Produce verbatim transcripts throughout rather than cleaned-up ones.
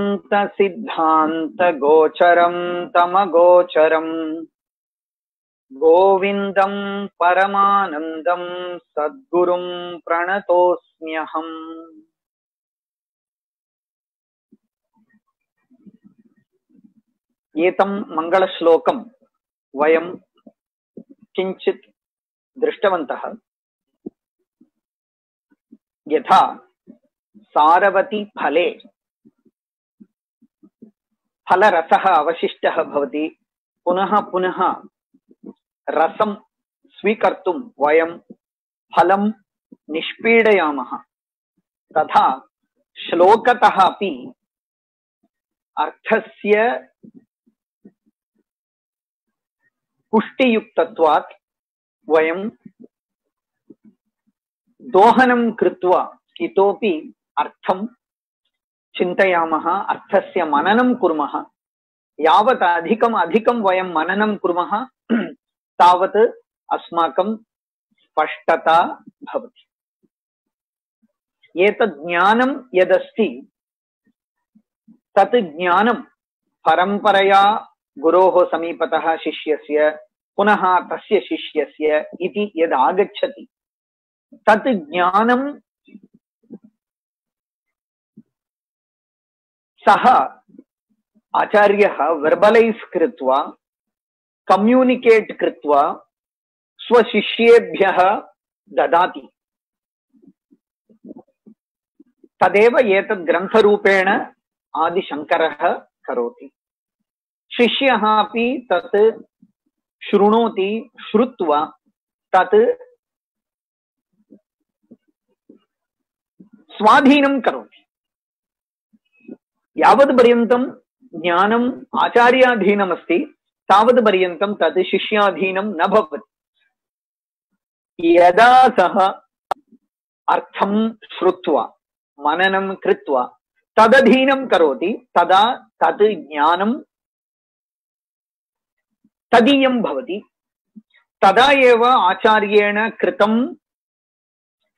सिद्धांत गोचरं तमगोचरं गोविंदं परमानंदं सद्गुरुं प्रणतोऽस्म्यहम्। एतं मंगलश्लोकं वयं किंचित् दृष्टवन्तः। यथा सारवती फले फलरसः अवशिष्टः भवति, पुनः पुनः रसं स्वीकर्तुं वयं फलं निष्पीडयामः, तथा श्लोकतः अपि अर्थस्य पुष्टियुक्तत्वात् वयं दोहनं कृत्वा इतोपि अर्थं चिन्तयामः, अर्थस्य मननं कुर्मः। यावत् अधिकम् अधिकं वयं मननं कुर्मः तावत् अस्माकं स्पष्टता भवति। एतत् ज्ञानं यदस्ति तत् ज्ञानं परम्परया गुरोः समीपतः शिष्यस्य पुनः तस्य शिष्यस्य इति यद् आगच्छति तत् ज्ञानं सः आचार्यः वर्बलैस् कृत्वा कम्युनिकेट् कृत्वा स्वशिष्येभ्यः ददाति। तदेव एतद् ग्रन्थरूपेण आदिशङ्करः करोति। शिष्यः अपि तत् शृणोति, श्रुत्वा तत् स्वाधीनं करोति। यावद् पर्यन्तं ज्ञानम् आचार्याधीनमस्ति तावद् पर्यन्तं तत् शिष्याधीनं न भवति। यदा सः अर्थं श्रुत्वा मननं कृत्वा तदधीनं करोति तदा तत् ज्ञानं तदीयं भवति। तदा एव आचार्येण कृतं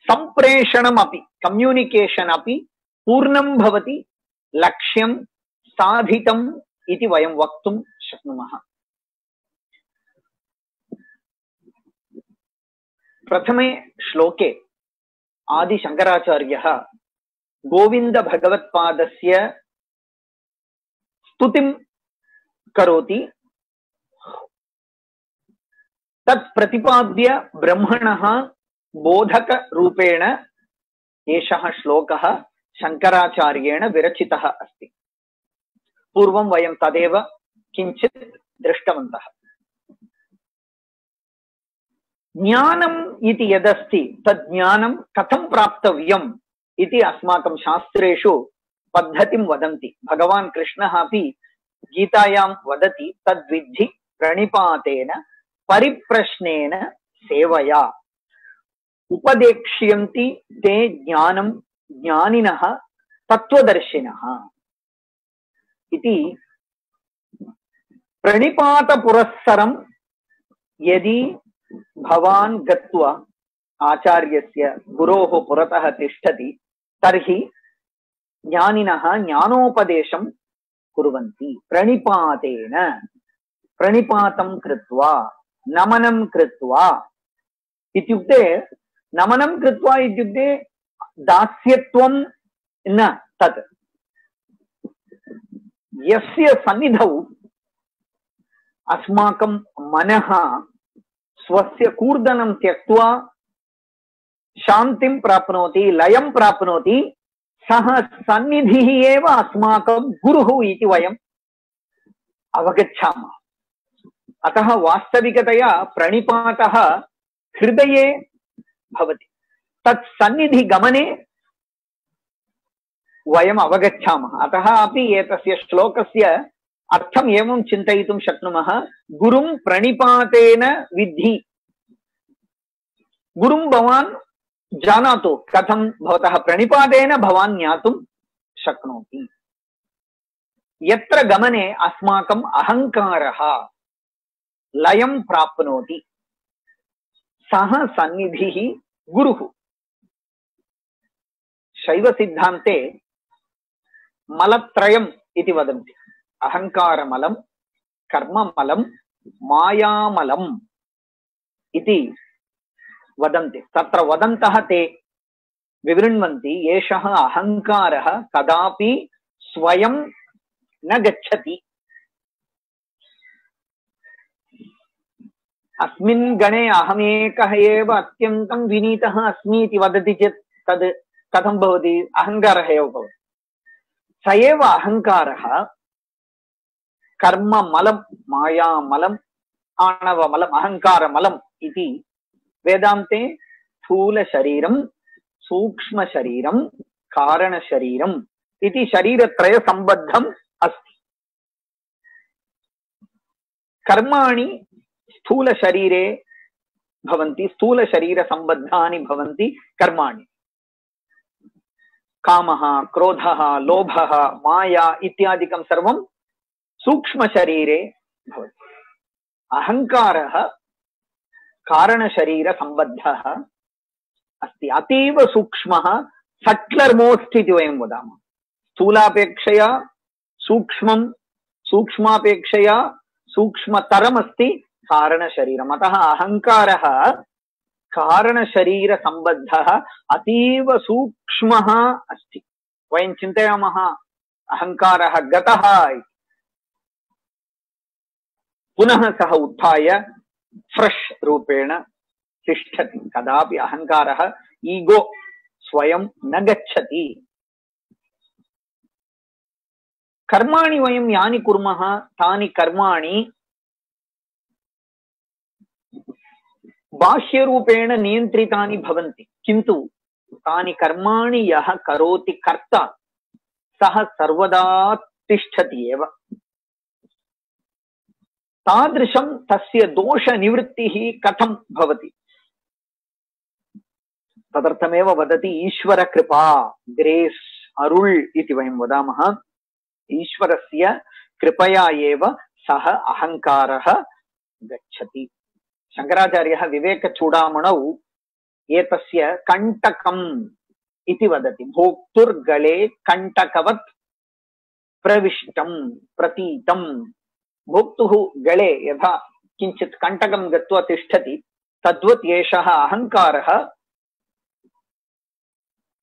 सम्प्रेषणमपि, कम्युनिकेशन् अपि पूर्णं भवति, लक्ष्यं साधितम् इति वयं वक्तुं शक्नुमः। प्रथमे श्लोके आदिशङ्कराचार्यः गोविन्दभगवत्पादस्य स्तुतिं करोति। तत् प्रतिपाद्य ब्रह्मणः बोधकरूपेण एषः श्लोकः शङ्कराचार्येण विरचितः अस्ति। पूर्वं वयं तदेव किञ्चित् दृष्टवन्तः। ज्ञानम् इति यदस्ति तद् ज्ञानं कथं प्राप्तव्यम् इति अस्माकं शास्त्रेषु पद्धतिं वदन्ति। भगवान् कृष्णः अपि गीतायां वदति, तद्विद्धि प्रणिपातेन परिप्रश्नेन सेवया उपदेक्ष्यन्ति ते ज्ञानं ज्ञानिनः तत्त्वदर्शिनः इति। प्रणिपातपुरस्सरं यदि भवान् गत्वा आचार्यस्य गुरोः पुरतः तिष्ठति तर्हि ज्ञानिनः ज्ञानोपदेशं कुर्वन्ति। प्रणिपातेन, प्रणिपातं कृत्वा, नमनं कृत्वा इत्युक्ते, नमनं कृत्वा इत्युक्ते दास्यत्वं न, तत् यस्य सन्निधौ अस्माकं मनः स्वस्य कूर्दनं त्यक्त्वा शान्तिं प्राप्नोति, लयं प्राप्नोति, सः सन्निधिः एव अस्माकं गुरुः इति वयं अवगच्छामः। अतः वास्तविकतया प्रणिपातः हृदये भवति। तत् सन्निधि गमने वयम् अवगच्छामः। अतः अपि एतस्य श्लोकस्य अर्थम् एवं चिन्तयितुं शक्नुमः, गुरुं प्रणिपातेन विद्धि। गुरुं भवान् जानातु, कथं भवतः प्रणिपातेन भवान् ज्ञातुं शक्नोति। यत्र गमने अस्माकम् अहङ्कारः लयं प्राप्नोति सः सन्निधिः गुरुः। शैव सिद्धान्ते मलत्रयम् इति वदन्ति। अहङ्कारमलं, कर्ममलं, मायामलम् इति वदन्ति। तत्र वदन्तः ते विवृण्वन्ति एषः अहङ्कारः कदापि स्वयं न गच्छति। अस्मिन् गणे अहमेकः एव अत्यन्तं विनीतः अस्मि इति वदति चेत् तद् कथं भवति? अहङ्कारः एव भवति। स एव अहङ्कारः कर्ममलं, मायामलं, आणवमलम्, अहङ्कारमलम् इति वेदान्ते स्थूलशरीरं, सूक्ष्मशरीरं, कारणशरीरम् इति शरीरत्रयसम्बद्धम् अस्ति। कर्माणि स्थूलशरीरे भवन्ति, स्थूलशरीरसम्बद्धानि भवन्ति कर्माणि। कामः, क्रोधः, लोभः, माया इत्यादिकं सर्वं सूक्ष्मशरीरे भवति। अहङ्कारः कारणशरीरसम्बद्धः अस्ति, अतीव सूक्ष्मः, सट्लर् मोस्ट् इति वयं वदामः। स्थूलापेक्षया सूक्ष्मं, सूक्ष्मापेक्षया सूक्ष्मतरमस्ति कारणशरीरम्। अतः अहङ्कारः कारणशरीरसम्बद्धः अतीव सूक्ष्मः अस्ति। वयं चिन्तयामः अहङ्कारः गतः, पुनः सः उत्थाय फ्रेश् रूपेण तिष्ठति। कदापि अहङ्कारः, ईगो स्वयं न गच्छति। कर्माणि वयं यानि कुर्मः तानि कर्माणि बाह्यरूपेण नियन्त्रितानि भवन्ति, किन्तु तानि कर्माणि यः करोति कर्ता सः सर्वदा तिष्ठति एव। तादृशं तस्य दोषनिवृत्तिः कथं भवति? तदर्थमेव वदति ईश्वरकृपा, ग्रेस्, अरुळ् इति वयं वदामः। ईश्वरस्य कृपया एव सः अहङ्कारः गच्छति। शङ्कराचार्यः विवेकचूडामणौ एतस्य कण्टकम् इति वदति। भोक्तुर्गले कण्टकवत् प्रविष्टं प्रतीतं। भोक्तुः गले यथा किञ्चित् कण्टकं गत्वा तिष्ठति, तद्वत् एषः अहङ्कारः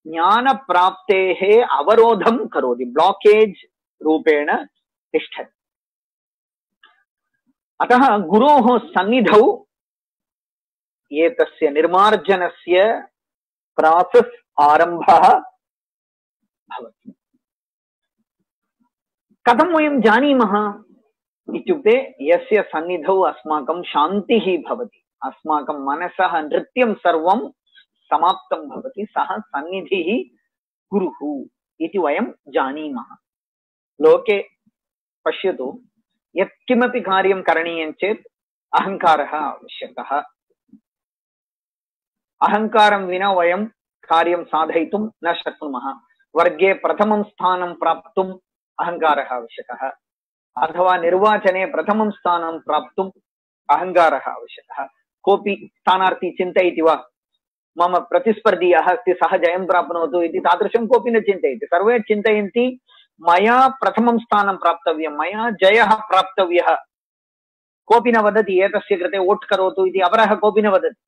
ज्ञानप्राप्तेः अवरोधं करोति, ब्लॉकेज रूपेण तिष्ठति। अतः गुरोः सन्निधौ एतस्य निर्मार्जनस्य प्रासेस् आरम्भः भवति। कथं वयं जानीमः इत्युक्ते यस्य सन्निधौ अस्माकं शान्तिः भवति, अस्माकं मनसः नृत्यं सर्वं समाप्तं भवति, सः सन्निधिः गुरुः इति वयं जानीमः। लोके पश्यतु, यत्किमपि कार्यं करणीयं चेत् अहङ्कारः आवश्यकः। अहङ्कारं विना वयं कार्यं साधयितुं न शक्नुमः। वर्गे प्रथमं स्थानं प्राप्तुम् अहङ्कारः आवश्यकः, अथवा निर्वाचने प्रथमं स्थानं प्राप्तुम् अहङ्कारः आवश्यकः। कोऽपि स्थानार्थी चिन्तयति वा, मम प्रतिस्पर्धीयः अस्ति सः जयं प्राप्नोतु इति? तादृशं कोऽपि न चिन्तयति। सर्वे चिन्तयन्ति मया प्रथमं स्थानं प्राप्तव्यं, मया जयः प्राप्तव्यः। कोऽपि न वदति एतस्य कृते वोट् करोतु इति, अपरः कोऽपि न वदति।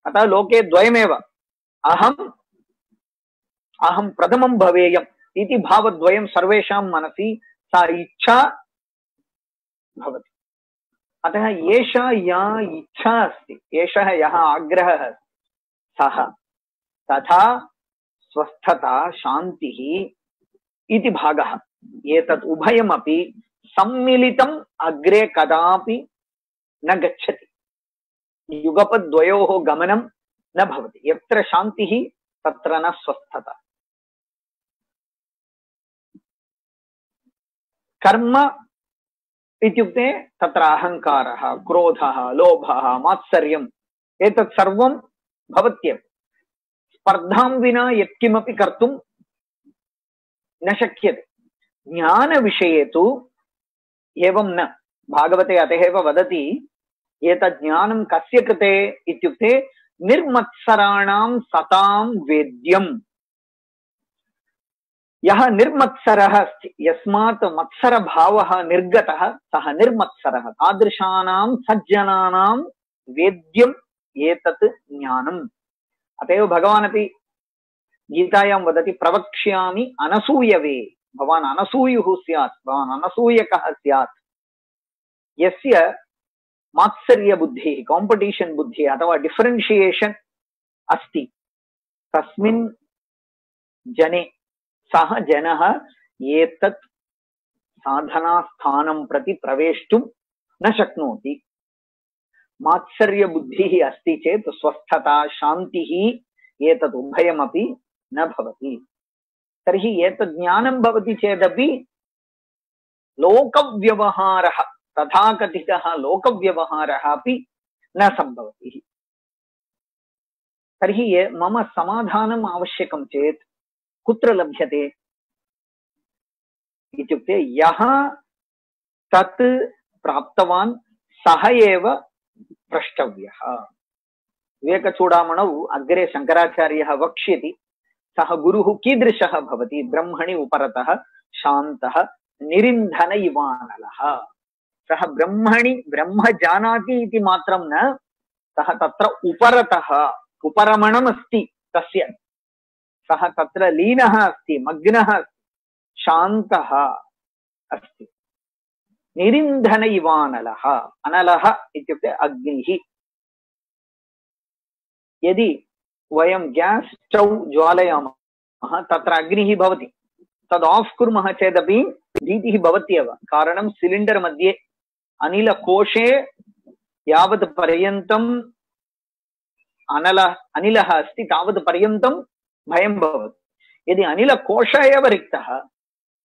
अतः लोके द्वयमेव, अहम् अहं प्रथमं भवेयम् इति भावद्वयं सर्वेषां मनसि सा इच्छा भवति। अतः एषा या इच्छा अस्ति, एषः यः आग्रहः सः तथा स्वस्थता, शान्तिः इति भागः, एतत् उभयमपि सम्मिलितम् अग्रे कदापि न गच्छति। युगपद्वयोः गमनं न भवति। यत्र शान्तिः तत्र न स्वस्थता। कर्म इत्युक्ते तत्र अहङ्कारः, क्रोधः, लोभः, मात्सर्यम् एतत् सर्वं भवत्येव। स्पर्धां विना यत्किमपि कर्तुं न शक्यते। ज्ञानविषये तु एवं न। भागवते अतः एव वदति एतत् ज्ञानं कस्य कृते इत्युक्ते निर्मत्सराणां सतां वेद्यम्। यः निर्मत्सरः अस्ति, यस्मात् मत्सरभावः निर्गतः सः निर्मत्सरः। तादृशानां सज्जनानां वेद्यम् एतत् ज्ञानम्। अत एव भगवान् अपि गीतायां वदति, प्रवक्ष्यामि अनसूयवे। भवान् अनसूयुः स्यात्, भवान् अनसूयकः स्यात्। यस्य मात्सर्य बुद्धिः, काम्पिटिशन् बुद्धिः अथवा डिफरेन्शिएशन् अस्ति, तस्मिन् जने सः जनः एतत् साधनास्थानं प्रति प्रवेष्टुं न शक्नोति। मात्सर्य बुद्धिः अस्ति चेत् स्वस्थता शान्तिः एतत् उभयमपि न भवति। तर्हि एतत् ज्ञानं भवति चेदपि लोकव्यवहारः, तथाकथितः लोकव्यवहारः अपि न सम्भवति। तर्हि मम समाधानम् आवश्यकं चेत् कुत्र लभ्यते इत्युक्ते यः तत् प्राप्तवान् सः एव प्रष्टव्यः। विवेकचूडामणौ अग्रे शङ्कराचार्यः वक्ष्यति, सः गुरुः कीदृशः भवति? ब्रह्मणि उपरतः शान्तः निरिन्धन इवानलः। सः ब्रह्मणि ब्रह्म जानाति इति मात्रं न, सः तत्र उपरतः, उपरमणमस्ति तस्य, सः तत्र लीनः अस्ति, मग्नः अस्ति, शान्तः अस्ति। निरिन्धन इवानलः। अनलः इत्युक्ते अग्निः। यदि वयं ग्यास् स्टौ ज्वालयामः, तत्र अग्निः भवति, तद् आफ् कुर्मः चेदपि भीतिः भवत्येव। कारणं सिलिण्डर् मध्ये अनिलकोशे यावत् पर्यन्तम् अनल अनिलः अस्ति तावत् पर्यन्तं भयं भवति। यदि अनिलकोशः एव रिक्तः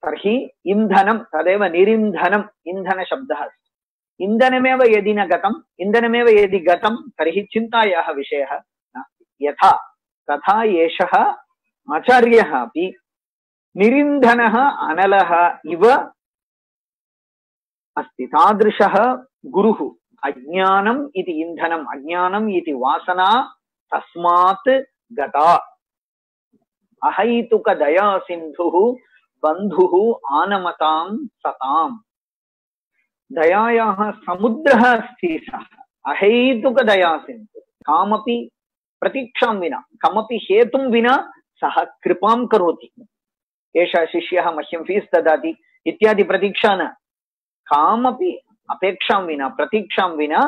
तर्हि इन्धनं, तदेव निरिन्धनम्, इन्धनशब्दः अस्ति। इन्धनमेव यदि न गतम्, इन्धनमेव यदि गतं तर्हि चिन्तायाः विषयः नास्ति। यथा तथा एषः आचार्यः अपि निरिन्धनः अनलः इव अस्ति। तादृशः गुरुः। अज्ञानम् इति इन्धनम्, अज्ञानम् इति वासना तस्मात् गता। अहैतुक दया सिन्धुः बन्धुः आनमतां सताम्। दयायाः समुद्रः अस्ति सः, अहैतुक दया सिन्धुः। कामपि प्रतीक्षां विना, कमपि हेतुं विना सः कृपां करोति। एषः शिष्यः मह्यं फीस् ददाति इत्यादि प्रतीक्षा न, कामपि अपेक्षां विना, प्रतीक्षां विना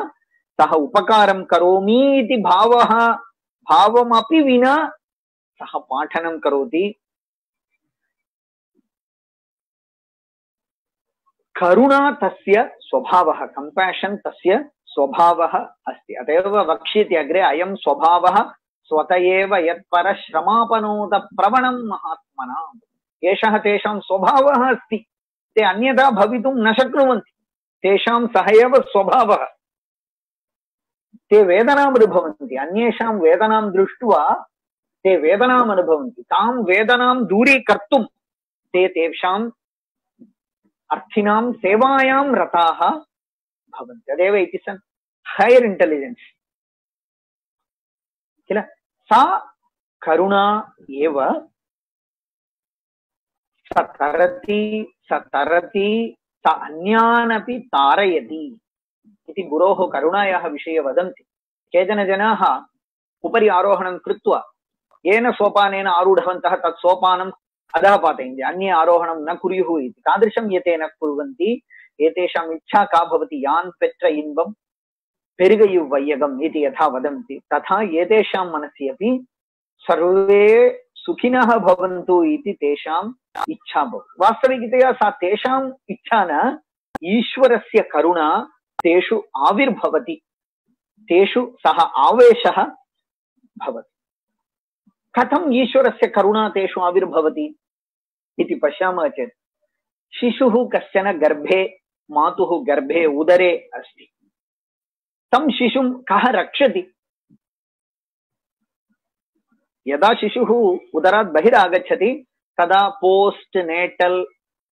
सः उपकारं करोमि इति भावः, भावमपि विना सः पाठनं करोति। करुणा तस्य स्वभावः, कम्पाशन् तस्य स्वभावः अस्ति। अत एव वक्ष्यति अग्रे, अयं स्वभावः स्वत एव यत्पर श्रमापनोत प्रवणं महात्मनाम्। एषः तेषां स्वभावः अस्ति, ते अन्यथा भवितुं न शक्नुवन्ति। तेषां सः एव स्वभावः। ते वेदनाम् अनुभवन्ति, अन्येषां वेदनां दृष्ट्वा ते वेदनाम् अनुभवन्ति। तां वेदनां दूरीकर्तुं ते तेषाम् अर्थिनां सेवायां रताः भवन्ति। तदेव इति सन् हैर् इंटेलिजेन्स् किल। सा करुणा एव स तरति स तरति स अन्यानपि तारयति इति गुरोः करुणायाः विषये वदन्ति। केचन जनाः उपरि आरोहणं कृत्वा येन सोपानेन आरूढवन्तः तत् सोपानं अधः पातयन्ति, अन्ये आरोहणं न कुर्युः इति। तादृशं यते न कुर्वन्ति, एतेषाम् इच्छा का भवति? यान् पेत्र इन्बं पेरुगयु वैयगम् इति यथा वदन्ति, तथा एतेषां मनसि अपि सर्वे सुखिनः भवन्तु इति तेषाम् इच्छा भवति। वास्तविकतया सा तेषाम् इच्छा न, ईश्वरस्य करुणा तेषु आविर्भवति, तेषु सः आवेशः भवति। कथम् ईश्वरस्य करुणा तेषु आविर्भवति इति पश्यामः चेत्, शिशुः कश्चन गर्भे, मातुः गर्भे उदरे अस्ति, तं शिशुं कः रक्षति? यदा शिशुः उदरात् बहिरागच्छति तदा postnatal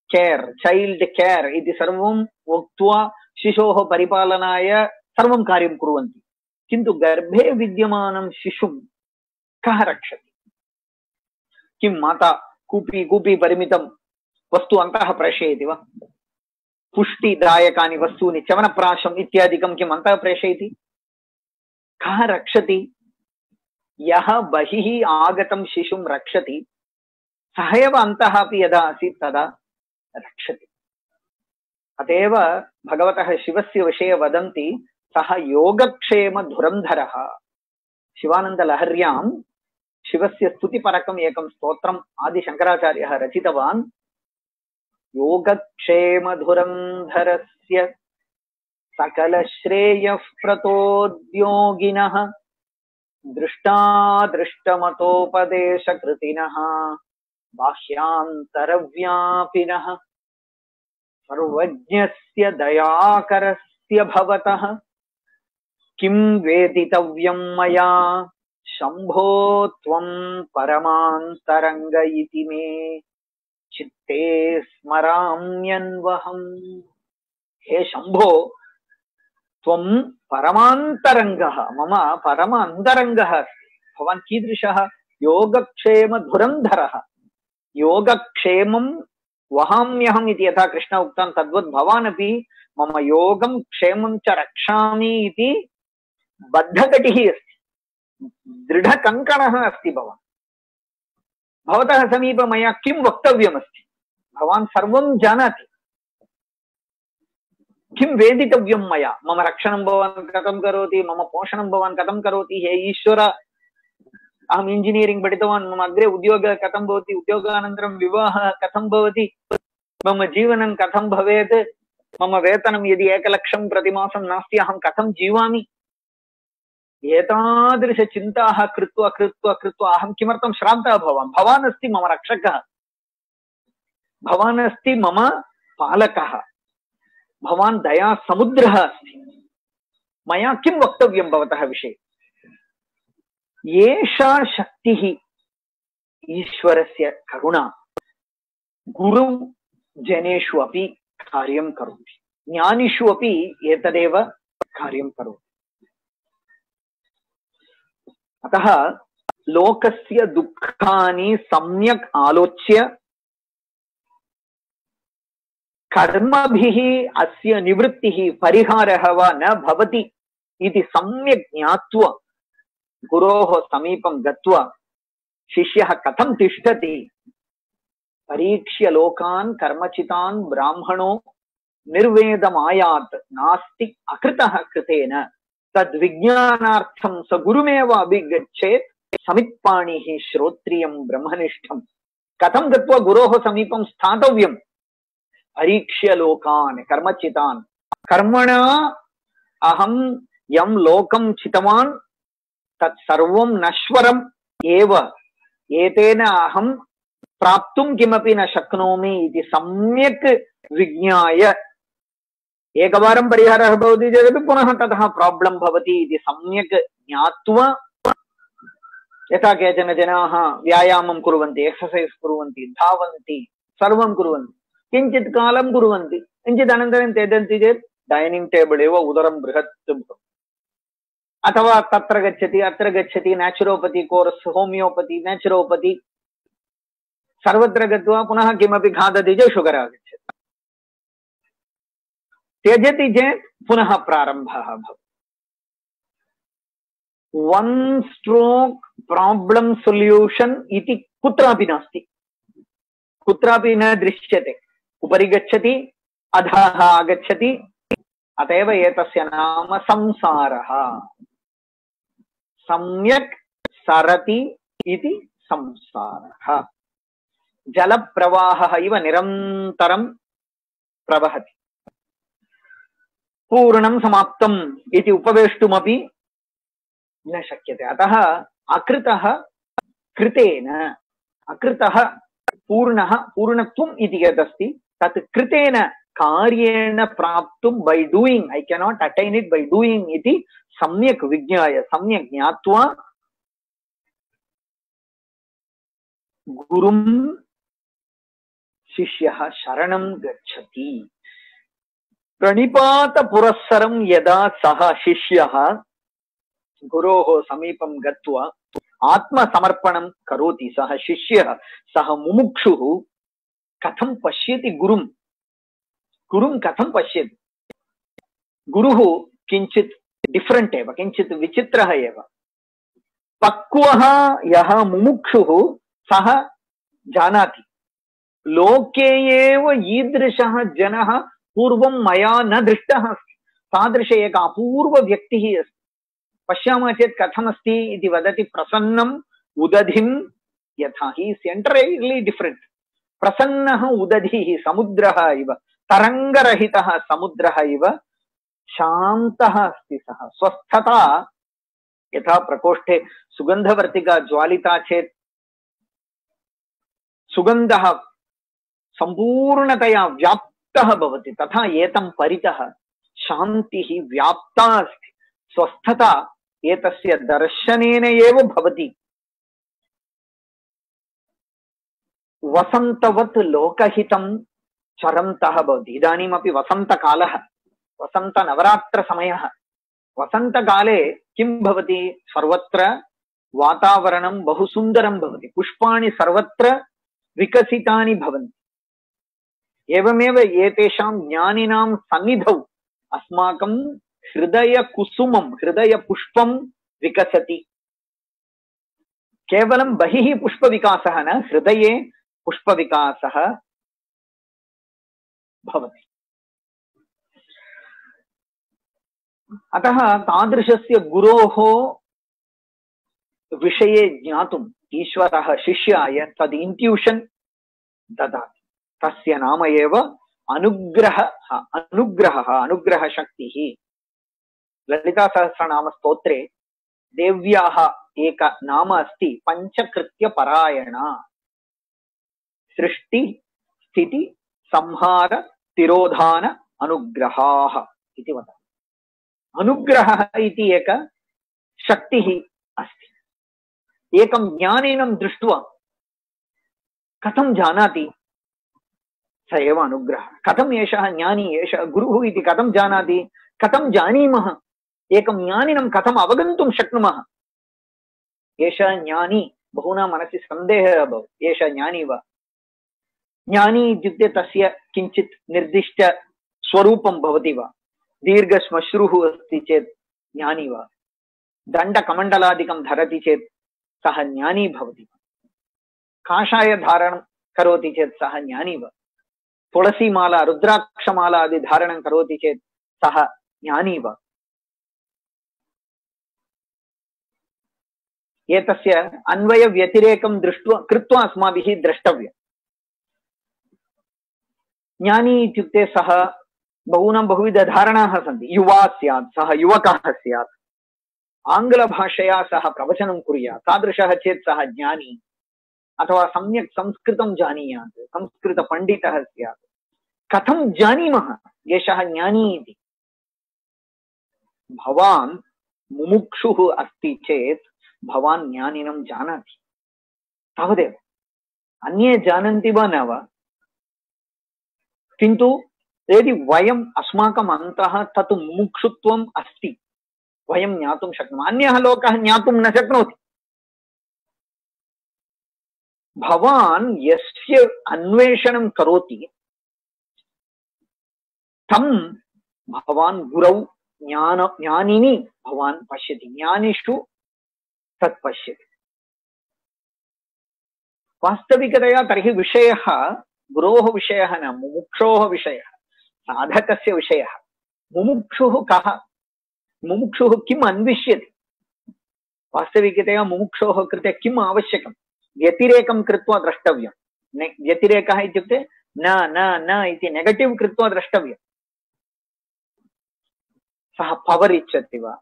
care, child care इति सर्वं उक्त्वा शिशोः परिपालनाय सर्वं कार्यं कुर्वन्ति। किन्तु गर्भे विद्यमानं शिशुं कः रक्षति? किं माता कूपी कूपी परिमितं वस्तु अन्तः प्रेषयति वा? पुष्टिदायकानि वस्तूनि चवनप्राशम् इत्यादिकं किम् अन्तः प्रेषयति? कः रक्षति? यः बहिः आगतं शिशुं रक्षति सः एव अन्तः अपि यदा आसीत् तदा रक्षति। अतएव भगवतः शिवस्य विषये वदन्ति सः योगक्षेम धुरन्धरः। शिवानन्दलहर्यां शिवस्य स्तुतिपरकम् एकं स्तोत्रम् आदिशङ्कराचार्यः रचितवान्। योगक्षेम धुरन्धरस्य सकलश्रेयः प्रतोद्योगिनः दृष्टादृष्टमतोपदेशकृतिनः बाह्यान्तरव्यापिनः सर्वज्ञस्य दयाकरस्य भवतः किं वेदितव्यं मया शंभो त्वं परमान्तरंग इति मे चित्ते स्मराम्यन्वहम्। हे शंभो त्वं परमान्तरंगः मम परम अन्तरंगः अस्ति। भवान् कीदृशः? योगक्षेम धुरन्धरः। योगक्षेमं वहाम्यहम् इति यथा कृष्ण उक्तं तद्वत् भवान् अपि मम योगं क्षेमं च रक्षामि इति बद्धकटिः अस्ति, दृढकङ्कणः अस्ति भवान्। भवतः समीपे मया किं वक्तव्यमस्ति? भवान् सर्वं जानाति। किं वेदितव्यं मया? मम रक्षणं भवान् कथं करोति, मम पोषणं भवान् कथं करोति? हे ईश्वर, अहम् इंजिनियरिंग पठितवान्, मम अग्रे उद्योगः कथं भवति, उद्योगानन्तरं विवाहः कथं भवति, मम जीवनं कथं भवेत्, मम वेतनं यदि एकलक्षं प्रतिमासं नास्ति अहं कथं जीवामि? एतादृशचिन्ताः कृत्वा कृत्वा कृत्वा अहं किमर्थं श्रान्तः भवामि? भवान् अस्ति मम रक्षकः, भवान् अस्ति मम पालकः, भवान् दया समुद्रः अस्ति। मया किं वक्तव्यं भवतः विषये? एषा शक्तिः ईश्वरस्य करुणा गुरु जनेषु अपि कार्यं करोति, ज्ञानिषु अपि एतदेव कार्यं करोति। अतः लोकस्य दुःखानि सम्यक् आलोच्य कर्मभिः अस्य निवृत्तिः परिहारः वा न भवति इति सम्यक् ज्ञात्वा गुरोः समीपं गत्वा शिष्यः कथं तिष्ठति परीक्ष्य लोकान् कर्मचितान् ब्राह्मणो निर्वेदमायात् नास्ति अकृतः कृतेन तद्विज्ञानार्थं स गुरुमेव अभिगच्छेत् समित्पाणिः श्रोत्रियं ब्रह्मनिष्ठम्। कथं गत्वा गुरोः समीपं स्थातव्यं? परीक्ष्य लोकान् कर्मचितान्। कर्मणा अहं यं लोकं चितवान् तत्सर्वं नश्वरम् एव, एतेन अहं प्राप्तुं किमपि न शक्नोमि इति सम्यक् विज्ञाय एकवारं परिहारः भवति चेदपि पुनः ततः प्राब्लम् भवति इति सम्यक् ज्ञात्वा, यथा केचन जनाः व्यायामं कुर्वन्ति, एक्सर्सैस् कुर्वन्ति, धावन्ति, सर्वं कुर्वन्ति, किञ्चित् कालं कुर्वन्ति, किञ्चित् अनन्तरं त्यजन्ति चेत् डैनिङ्ग् टेबल् एव उदरं बृहत् भवति। अथवा तत्र गच्छति अत्र गच्छति, नेचुरोपति कोर्स्, होमियोपति, नेचुरोपति, सर्वत्र गत्वा पुनः किमपि खादति चेत् शुगर् आगच्छति, त्यजति चेत् पुनः प्रारम्भः भवति। वन् स्ट्रोक् प्राब्लम् सोल्यूशन् इति कुत्रापि नास्ति, कुत्रापि न दृश्यते। उपरि गच्छति अधः आगच्छति, अतएव एतस्य नाम संसारः। सम्यक् सरति इति संसारः। जलप्रवाहः इव निरन्तरं प्रवहति, पूर्णं समाप्तम् इति उपवेष्टुमपि न शक्यते। अतः अकृतः कृतेन, अकृतः पूर्णः पूर्णत्वम् इति यदस्ति तत् कृतेन कार्येण प्राप्तुं by doing, I cannot attain it by doing इति सम्यक् विज्ञाय सम्यक् ज्ञात्वा गुरुं शिष्यः शरणं गच्छति। प्रणिपात पुरस्सरं यदा सः शिष्यः गुरोः समीपं गत्वा आत्मसमर्पणं करोति सः शिष्यः, सः मुमुक्षुः कथं पश्यति गुरुं, गुरुं कथं पश्यति? गुरुः किञ्चित् डिफरेंट एव, किञ्चित् विचित्रः एव। पक्वः यः मुमुक्षुः सः जानाति लोके एव ईदृशः जनः पूर्वं मया न दृष्टः अस्ति, तादृश एक अपूर्व व्यक्तिः अस्ति। पश्यामः चेत् कथमस्ति इति वदति, प्रसन्नम् उदधिं यथा, हि इस् एंटायरली डिफरेंट। प्रसन्नः उदधिः समुद्रः इव, तरंगरहितः समुद्रः इव शान्तः अस्ति सः। स्वस्थता यथा प्रकोष्ठे सुगंधवर्तिका ज्वालिता चेत् सुगंधः संपूर्णतया व्याप्तः भवति, तथा एतं परितः शान्तिः व्याप्ता अस्ति। स्वस्थता एतस्य दर्शनेन एव भवति। वसन्तवत् लोकहितं चरन्तः भवति। इदानीमपि वसन्तकालः, वसन्तनवरात्रसमयः। वसन्तकाले किं भवति? सर्वत्र वातावरणं बहु सुन्दरं भवति, पुष्पाणि सर्वत्र विकसितानि भवन्ति। एवमेव एतेषां ज्ञानिनां सन्निधौ अस्माकं हृदय कुसुमं, हृदय पुष्पं विकसति। केवलं बहिः पुष्पविकासः न, हृदये पुष्पविकासः भवति। अतः तादृशस्य गुरोः विषये ज्ञातुम् ईश्वरः शिष्याय तद् इंट्यूशन ददाति। तस्य नाम एव अनुग्रहः, अनुग्रहः, अनुग्रह शक्तिः। ललिता सहस्रनाम स्तोत्रे देव्याः एक नाम अस्ति पंचकृत्य परायणा। सृष्टि स्थिति संहार तिरोधान अनुग्रहाः इति वदति। अनुग्रहः इति एक शक्तिः अस्ति। एकं ज्ञानिनं दृष्ट्वा कथं जानाति? स एव अनुग्रहः। कथम् एषः ज्ञानी, एषः गुरुः इति कथं जानाति? कथं जानीमः? एकं ज्ञानिनं कथम् अवगन्तुं शक्नुमः? एषः ज्ञानी, बहूनां मनसि सन्देहः भवति, एषः ज्ञानी वा? ज्ञानी इत्युक्ते तस्य किञ्चित् निर्दिष्ट स्वरूपं भवति वा? दीर्घश्मश्रुः अस्ति चेत् ज्ञानी वा? दण्डकमण्डलादिकं धरति चेत् सः ज्ञानी भवति। काषाय धारणं करोति चेत् सः ज्ञानी वा? तुलसीमाला रुद्राक्षमाला आदि धारणं करोति चेत् सः ज्ञानी वा? एतस्य अन्वय व्यतिरेकं दृष्ट्वा कृत्वा अस्माभिः द्रष्टव्यम्। ज्ञानी इत्युक्ते सः बहूनां बहुविध धारणाः सन्ति। युवा स्यात्, सः युवकः स्यात्, आङ्ग्लभाषया सः प्रवचनं कुर्यात्, तादृशः चेत् सः ज्ञानी। अथवा सम्यक् संस्कृतं जानीयात्, संस्कृतपण्डितः स्यात्। कथं जानीमः एषः ज्ञानी इति? भवान् मुमुक्षुः अस्ति चेत् भवान् ज्ञानिनं जानाति, तावदेव। अन्ये जानन्ति वा न वा? किन्तु यदि वयम् अस्माकम् अन्तः तत् मुमुक्षुत्वम् अस्ति, वयं ज्ञातुं शक्नुमः। अन्यः लोकः ज्ञातुं न शक्नोति। भवान् यस्य अन्वेषणं करोति तं भवान् गुरौ ज्ञान ज्ञानिनि भवान् पश्यति, ज्ञानिषु तत् पश्यति। वास्तविकतया तर्हि विषयः गुरोः विषयः न, मुमुक्षोः विषयः, साधकस्य विषयः। मुमुक्षुः कः? मुमुक्षुः किम् अन्विष्यति? वास्तविकतया मुमुक्षोः कृते किम् आवश्यकं? व्यतिरेकं कृत्वा द्रष्टव्यं। व्यतिरेकः इत्युक्ते न न न इति नेगटिव् कृत्वा द्रष्टव्यम्। सः पवर् इच्छति वा?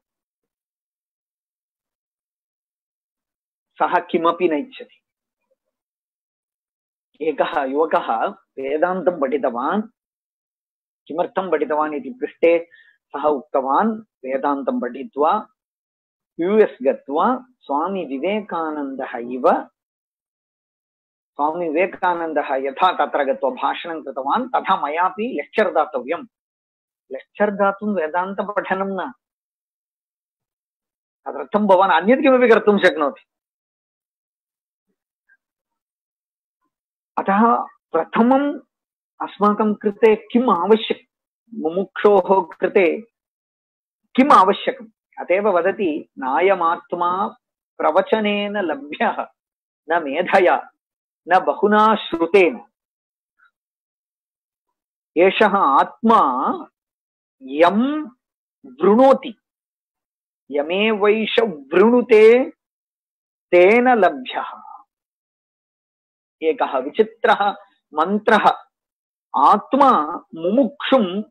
सः किमपि न इच्छति। एकः युवकः वेदान्तं पठितवान्। किमर्थं पठितवान् इति पृष्टे सः उक्तवान्, वेदान्तं पठित्वा यूएस् गत्वा स्वामी विवेकानन्दः इव, स्वामी विवेकानन्दः यथा तत्र गत्वा भाषणं कृतवान् तथा मयापि लेक्चर् दातव्यम्। लेक्चर् दातुं वेदान्तपठनं न, तदर्थं भवान् अन्यत् किमपि कर्तुं शक्नोति। अतः प्रथमम् अस्माकं कृते किम् आवश्यकं, मुमुक्षोः कृते किम् आवश्यकम्? अतएव वदति नायमात्मा प्रवचनेन लभ्यः न मेधया न बहुना श्रुतेन। एषः आत्मा यं वृणोति, यमेवैष वृणुते तेन लभ्यः। एकः विचित्रः मन्त्रः आत्मा मुमुक्षुं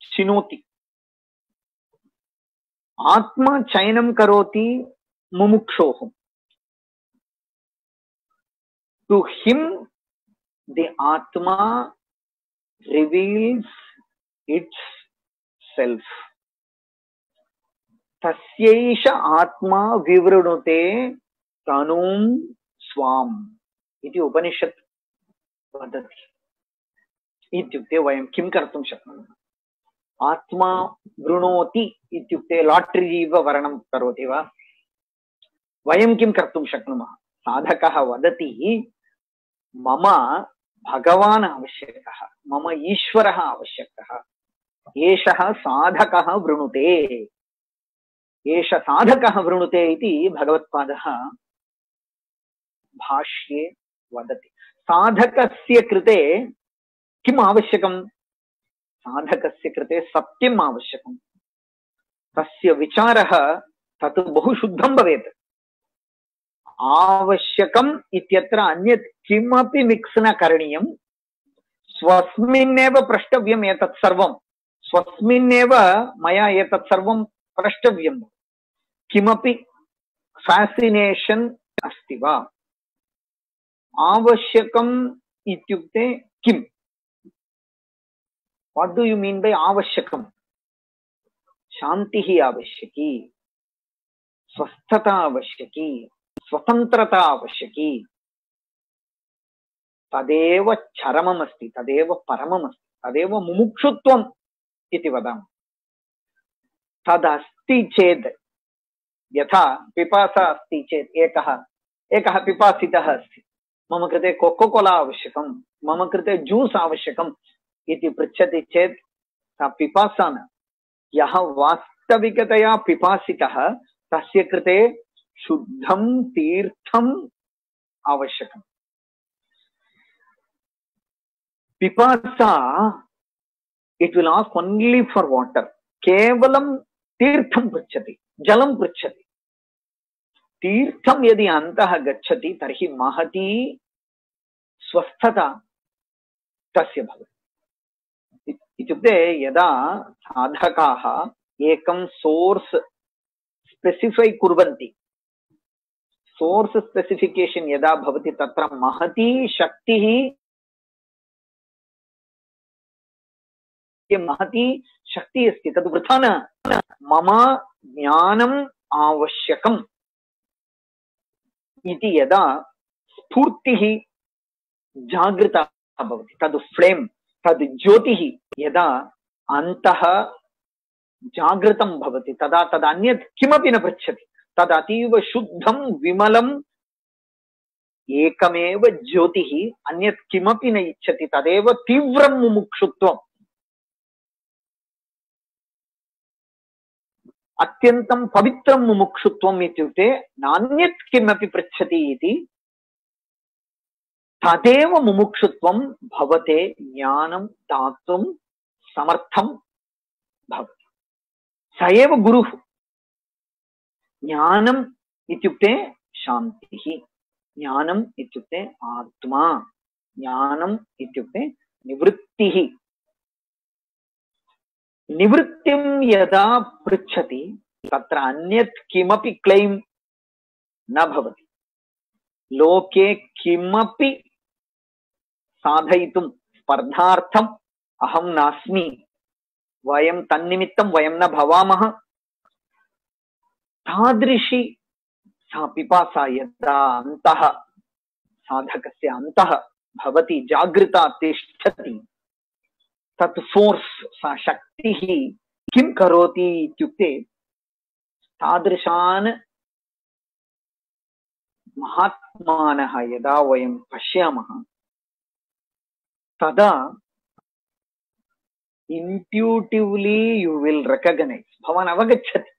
चिनोति। आत्मा चयनं करोति मुमुक्षोः। टू हिम द आत्मा रिवील्स इट्स सेल्फ। तस्यैष आत्मा विवृणुते तनुं स्वाम् इति उपनिषत् वदति। इत्युक्ते वयं किं कर्तुं शक्नुमः? आत्मा वृणोति इत्युक्ते लाटरी इव वर्णं करोति वा? वयं किं कर्तुं शक्नुमः? साधकः वदति मम भगवान् आवश्यकः, मम ईश्वरः आवश्यकः, एषः साधकः वृणुते, एष साधकः वृणुते इति भगवत्पादः भाष्ये वदति। साधकस्य कृते किम् आवश्यकम्? साधकस्य कृते सत्यम् आवश्यकम्। तस्य विचारः तत् बहु शुद्धं भवेत्। आवश्यकम् इत्यत्र अन्यत् किमपि मिक्स् न करणीयम्। स्वस्मिन्नेव प्रष्टव्यम् एतत् सर्वं। स्वस्मिन्नेव मया एतत् सर्वं प्रष्टव्यम्। किमपि फैसिनेशन् अस्ति वा? आवश्यकम् इत्युक्ते किम्? What do you mean by आवश्यकम्? शान्तिः आवश्यकी, स्वस्थता आवश्यकी, स्वतन्त्रता आवश्यकी। तदेव चरममस्ति, तदेव परममस्ति, तदेव मुमुक्षुत्वम् इति वदामः। तदस्ति चेत्, यथा पिपासा अस्ति चेत्, एकः एकः पिपासितः अस्ति, मम कृते कोको कोला आवश्यकं, मम कृते ज्यूस् आवश्यकम् इति पृच्छति चेत् सा पिपासा न। यः वास्तविकतया पिपासितः तस्य कृते शुद्धं तीर्थम् आवश्यकम्। पिपासा it will ask only for water. केवलं तीर्थं पृच्छति, जलं पृच्छति। तीर्थं यदि अन्तः गच्छति तर्हि महती स्वस्थता तस्य भवति। इत्युक्ते यदा साधकाः एकं सोर्स स्पेसिफै कुर्वन्ति, सोर्स स्पेसिफिकेशन यदा भवति तत्र महती शक्तिः, महती शक्ति अस्ति, तद् वृथा न। मम ज्ञानम् आवश्यकम् इति यदा स्फूर्तिः जागृता भवति, तद् फ्लेम्, तद् ज्योतिः यदा अन्तः जागृतं भवति, तदा तद् अन्यत् किमपि न पृच्छति। तद् अतीव शुद्धं विमलम् एकमेव ज्योतिः, अन्यत् किमपि न इच्छति। तदेव तीव्रं मुमुक्षुत्वम्। अत्यन्तं पवित्रं मुमुक्षुत्वम् इत्युक्ते नान्यत् किमपि पृच्छति इति। तदेव मुमुक्षुत्वं भवते ज्ञानं दातुं समर्थं भवति। स एव गुरुः। ज्ञानम् इत्युक्ते शान्तिः, ज्ञानम् इत्युक्ते आत्मा, ज्ञानम् इत्युक्ते निवृत्तिः। निवृत्तिं यदा पृच्छति तत्र अन्यत् किमपि क्लेम् न भवति। लोके किमपि साधयितुं स्पर्धार्थम् अहं नास्मि, वयं तन्निमित्तं वयं न भवामः। तादृशी सा पिपासा यदा अन्तः साधकस्य अन्तः भवति, जागृता तिष्ठति, तत् फोर्स, सा शक्तिः किं करोति इत्युक्ते तादृशान् महात्मानः यदा वयं पश्यामः तदा intuitively you will recognize, भवान् अवगच्छति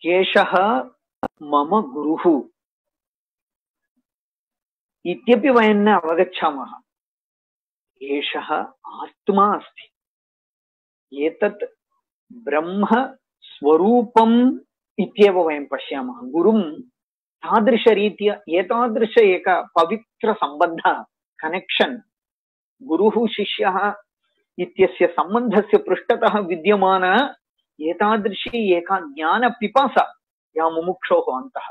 एषः मम गुरुः इत्यपि वयं न अवगच्छामः। एषः आत्मा अस्ति, एतत् ब्रह्म स्वरूपम् इत्येव वयं पश्यामः। गुरुं तादृशरीत्या एतादृश एक पवित्र सम्बन्ध कनेक्षन् गुरुः शिष्यः इत्यस्य सम्बन्धस्य पृष्ठतः विद्यमान एतादृशी एका ज्ञानपिपासा या मुमुक्षोः अन्तः,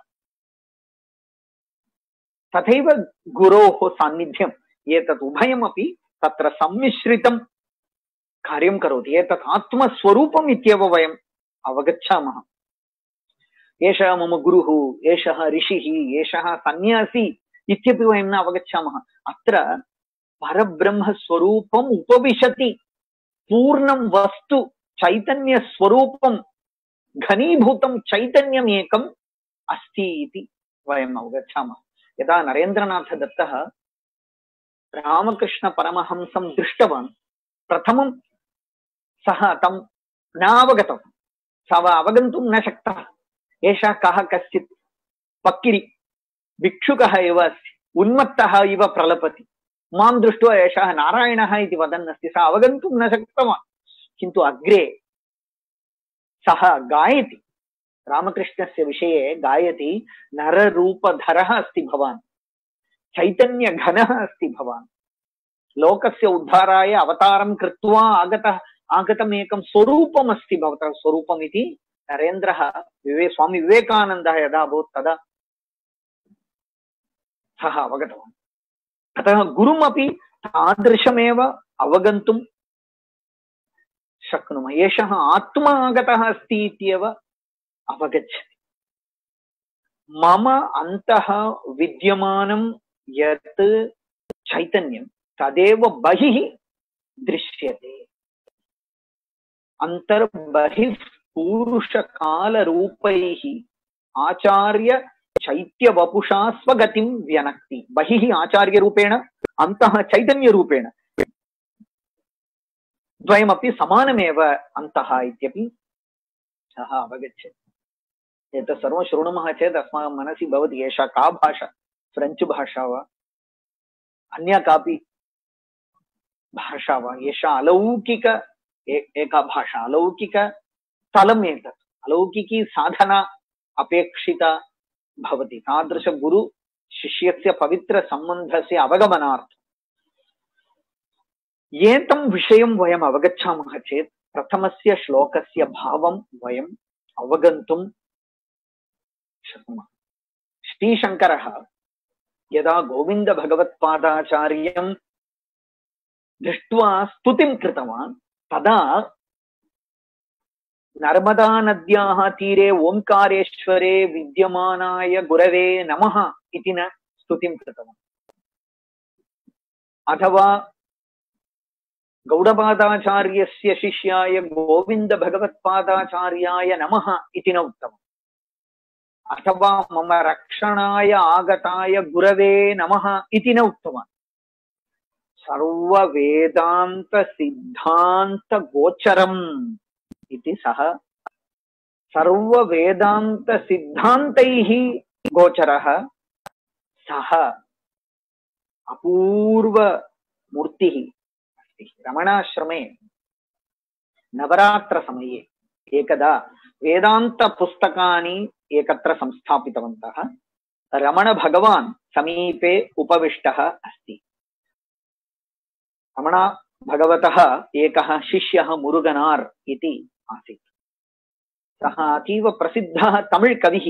तथैव गुरोः सान्निध्यम् एतत् उभयमपि तत्र सम्मिश्रितं कार्यं करोति। एतत् आत्मस्वरूपम् इत्येव वयम् अवगच्छामः। एषः मम गुरुः, एषः ऋषिः, एषः सन्यासी इत्यपि वयं न अवगच्छामः। अत्र परब्रह्मस्वरूपम् उपविशति, पूर्णं वस्तु चैतन्यस्वरूपं घनीभूतं चैतन्यम् एकम् अस्ति इति वयम् अवगच्छामः। यदा नरेन्द्रनाथदत्तः रामकृष्णपरमहंसं दृष्टवान्, प्रथमं सः तं न अवगतवान्, सः अवगन्तुं न शक्तः। एषः कः कश्चित् पक्किरि भिक्षुकः एव अस्ति, उन्मत्तः इव प्रलपति, मां दृष्ट्वा एषः नारायणः इति वदन् अस्ति, सः अवगन्तुं न शक्तवान्। किन्तु अग्रे सः गायति, रामकृष्णस्य विषये गायति, नररूपधरः अस्ति भवान्, चैतन्यघनः अस्ति भवान्, लोकस्य उद्धाराय अवतारं कृत्वा आगतः आगतम् एकं स्वरूपम् अस्ति भवतः स्वरूपम् इति नरेन्द्रः विवे स्वामी विवेकानन्दः यदा अभूत् तदा सः अवगतवान्। अतः गुरुमपि तादृशमेव अवगन्तुं शक्नुमः। एषः आत्मा आगतः अस्ति इत्येव अवगच्छति। मम अन्तः विद्यमानं यत् चैतन्यं तदेव बहिः दृश्यते। अन्तर्बहिः पूरुषकालरूपैः आचार्य चैत्यवपुषा स्वगतिं व्यनक्ति। बहिः आचार्यरूपेण, अन्तः चैतन्यरूपेण, द्वयमपि समानमेव अन्तः इत्यपि सः अवगच्छति। एतत् सर्वं शृणुमः चेत् अस्माकं मनसि भवति एषा का भाषा, फ्रेञ्च् भाषा वा अन्या कापि भाषा वा, एषा अलौकिक एका भाषा, अलौकिकस्थलम् एतत्, अलौकिकी साधना अपेक्षिता भवति तादृश गुरु शिष्यस्य पवित्रसम्बन्धस्य अवगमनार्थम्। एतं विषयं वयम् अवगच्छामः चेत् प्रथमस्य श्लोकस्य भावं वयम् अवगन्तुं शक्नुमः। श्रीशङ्करः यदा गोविन्दभगवत्पादाचार्यं दृष्ट्वा स्तुतिं कृतवान्, तदा नर्मदा नद्याः तीरे ओंकारेश्वरे विद्यमानाय गुरवे नमः इति न स्तुतिं कृतवान्, अथवा गौडपादाचार्यस्य शिष्याय गोविन्दभगवत्पादाचार्याय नमः इति न उक्तवान्, अथवा मम रक्षणाय आगताय गुरवे नमः इति न उक्तवान्। सर्ववेदान्त सिद्धान्त गोचरम् इति सः सर्ववेदान्त सिद्धान्तैः गोचरः सः अपूर्व मूर्तिः अस्ति। रमणाश्रमे नवरात्र समये एकदा वेदान्त पुस्तकानि एकत्र संस्थापितवन्तः। रमण भगवान् समीपे उपविष्टः अस्ति। रमण भगवतः एकः शिष्यः मुरुगनार् इति आसीत्। सः अतीव प्रसिद्धः तमिळ् कविः।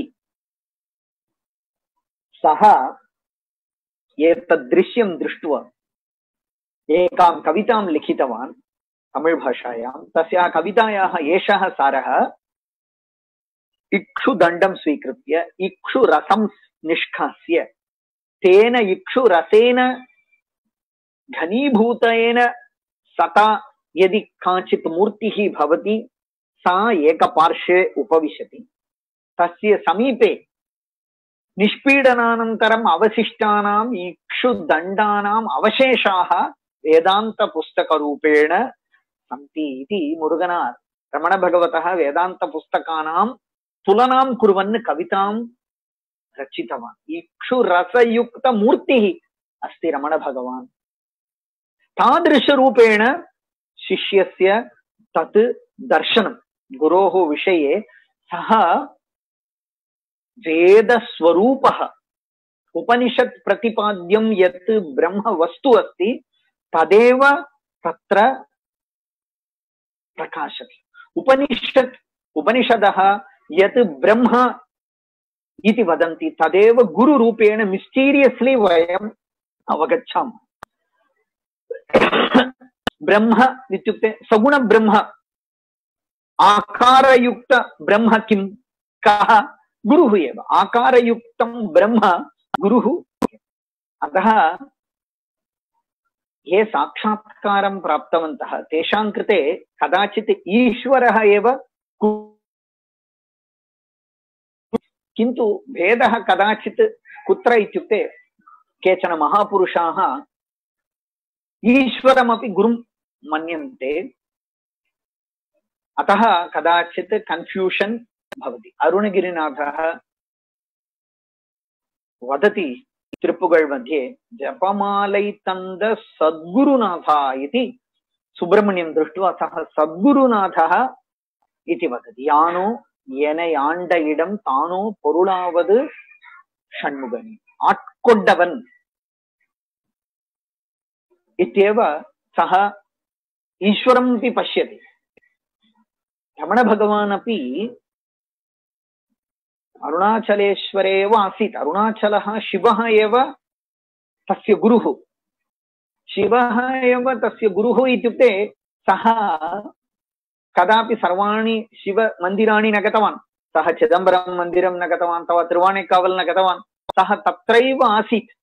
सः एतद् दृश्यं दृष्ट्वा एकां कवितां लिखितवान् तमिळ् भाषायां। तस्याः कवितायाः एषः सारः: इक्षुदण्डं स्वीकृत्य इक्षुरसं निष्कास्य तेन इक्षुरसेन घनीभूतेन सता यदि काचित् मूर्तिः भवति सा एकपार्श्वे उपविशति, तस्य समीपे निष्पीडनानन्तरम् अवशिष्टानाम् इक्षुदण्डानाम् अवशेषाः वेदान्तपुस्तकरूपेण सन्ति इति मुरुगनार् रमणभगवतः वेदान्तपुस्तकानां तुलनां कुर्वन् कवितां रचितवान्। इक्षुरसयुक्तमूर्तिः अस्ति रमणभगवान्। तादृशरूपेण शिष्यस्य तत् दर्शनं गुरोः विषये सः वेदस्वरूपः उपनिषत् प्रतिपाद्यं यत् ब्रह्म वस्तु अस्ति तदेव तत्र प्रकाशते। उपनिषत् उपनिषदः यत् ब्रह्म इति वदन्ति तदेव गुरुरूपेण मिस्टीरियस्लि वयम् अवगच्छामः। ब्रह्म इत्युक्ते सगुण ब्रह्म, आकारयुक्त ब्रह्म किं कः? गुरुः एव। आकारयुक्तं ब्रह्म गुरुः। अतः ये साक्षात्कारं प्राप्तवन्तः तेषां कृते कदाचित् ईश्वरः एव, किन्तु भेदः कदाचित् कुत्र इत्युक्ते केचन महापुरुषाः ईश्वरमपि गुरुं मन्यन्ते, अतः कदाचित् कन्फ्यूषन् भवति। अरुणगिरिनाथः वदति त्रिपुगळ् मध्ये जपमालै तन्द सद्गुरुनाथा इति। सुब्रह्मण्यं दृष्ट्वा सः सद्गुरुनाथः इति वदति। यानो येनै आण्ड इडं तानो पोरुळावदु षण्मुगनि, आट्कोड्डवन् इत्येव सः ईश्वरमपि पश्यति। रमणभगवान् अपि अरुणाचलेश्वरे एव आसीत्। अरुणाचलः शिवः एव तस्य गुरुः। शिवः एव तस्य गुरुः इत्युक्ते सः कदापि सर्वाणि शिवमन्दिराणि न गतवान्। सः चिदम्बरं मन्दिरं न गतवान्, अथवा तिरुवाणेकावल् न गतवान्। सः तत्रैव आसीत्।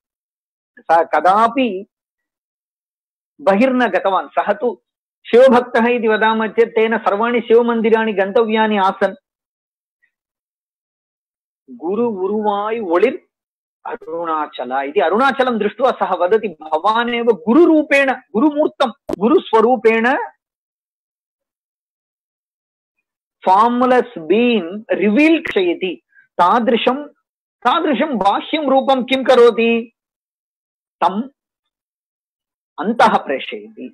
सः कदापि बहिर्न गतवान्। सः तु शिवभक्तः इति वदामः चेत् तेन सर्वाणि शिवमन्दिराणि गन्तव्यानि आसन्। गुरु उरुवाय् ओळिर् अरुणाचल इति अरुणाचलं दृष्ट्वा सः वदति भवान् एव गुरुरूपेण, गुरुमूर्तं, गुरुस्वरूपेण फार्मुलस् बीन् रिवील् क्षयति। तादृशं तादृशं बाह्यं रूपं किं करोति? तम् अन्तः प्रेषयति।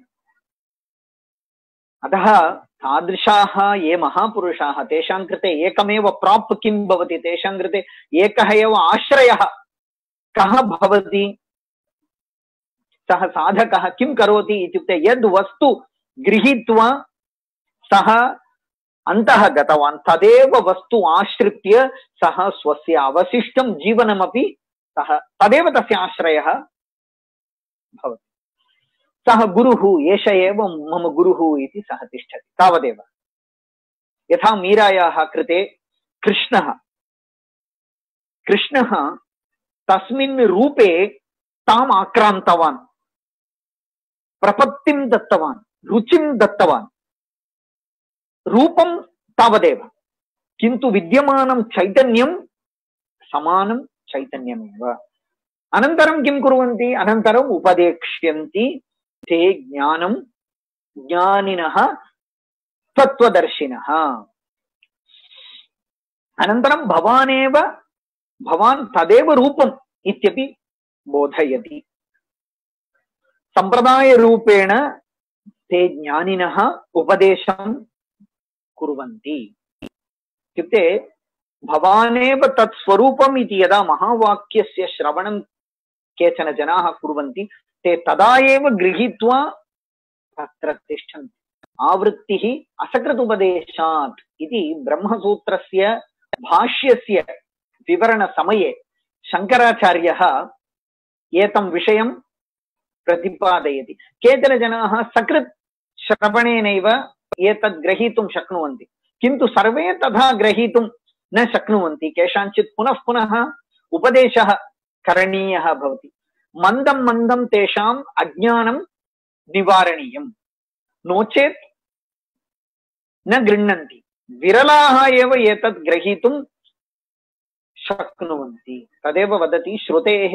अतः तादृशाः ये महापुरुषाः तेषां कृते एकमेव प्राप् किं भवति? तेषां कृते एकः एव आश्रयः कः भवति? सः साधकः किं करोति इत्युक्ते यद् वस्तु गृहीत्वा सः अन्तः गतवान् तदेव वस्तु आश्रित्य सः स्वस्य अवशिष्टं जीवनमपि सः तदेव तस्य आश्रयः भवति। सः गुरुः, एष एव मम गुरुः इति सः तिष्ठति। तावदेव। यथा मीरायाः कृते कृष्णः कृष्णः तस्मिन् रूपे ताम् आक्रान्तवान्, प्रपत्तिं दत्तवान्, रुचिं दत्तवान्। रूपं तावदेव, किन्तु विद्यमानं चैतन्यं समानं चैतन्यमेव। अनन्तरं किं कुर्वन्ति? अनन्तरम् उपदेक्ष्यन्ति ते ज्ञानं ज्ञानिनः तत्त्वदर्शिनः। अनन्तरं भवानेव भवान् तदेव रूपम् इत्यपि बोधयति। सम्प्रदायरूपेण ते ज्ञानिनः उपदेशं कुर्वन्ति। इत्युक्ते भवानेव तत् स्वरूपम् इति यदा महावाक्यस्य श्रवणं केचन जनाः कुर्वन्ति ते तदा एव गृहीत्वा तत्र तिष्ठन्ति। आवृत्तिः असकृतुपदेशात् इति ब्रह्मसूत्रस्य भाष्यस्य विवरणसमये शङ्कराचार्यः एतं विषयं प्रतिपादयति। केचन जनाः सकृत् श्रवणेनैव एतद् ग्रहीतुं शक्नुवन्ति, किन्तु सर्वे तथा ग्रहीतुं न शक्नुवन्ति। केषाञ्चित् पुनः पुनः उपदेशः करणीयः भवति। मन्दं मन्दं तेषाम् अज्ञानं निवारणीयं, नो चेत् न गृह्णन्ति। विरलाः एव एतत् ग्रहीतुं शक्नुवन्ति। तदेव वदति श्रुतेः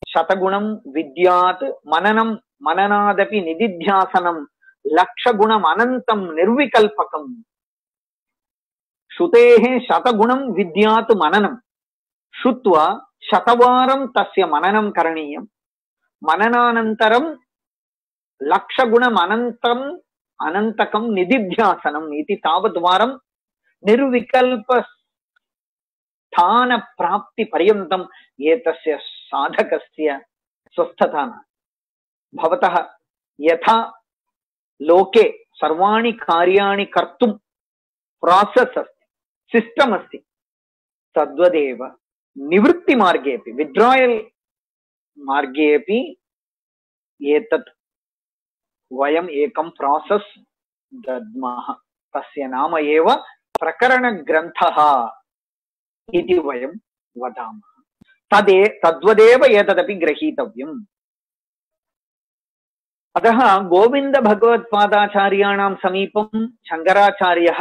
शतगुणं विद्यात् मननं मननादपि निदिध्यासनं लक्षगुणम् अनन्तं निर्विकल्पकम्। श्रुतेः शतगुणं विद्यात् मननं, श्रुत्वा शतवारं तस्य मननं करणीयं। मननानन्तरं लक्षगुणम् अनन्तम् अनन्तकं निदिध्यासनम् इति तावद्वारं निर्विकल्प स्थान प्राप्ति पर्यन्तम् एतस्य साधकस्य स्वस्थता न भवतः यथा लोके सर्वाणि कार्याणि कर्तुं प्रोसेस् अस्ति, सिस्टम् अस्ति, तद्वदेव निवृत्ति मार्गे अपि विड्रायल् मार्गे अपि एतत् वयम् एकं प्रोसेस् दद्मः। तस्य नाम एव प्रकरणग्रन्थः इति वयं वदामः। तदे तद्वदेव एतदपि ग्रहीतव्यम्। अतः गोविन्द भगवत्पादाचार्याणां समीपं शङ्कराचार्यः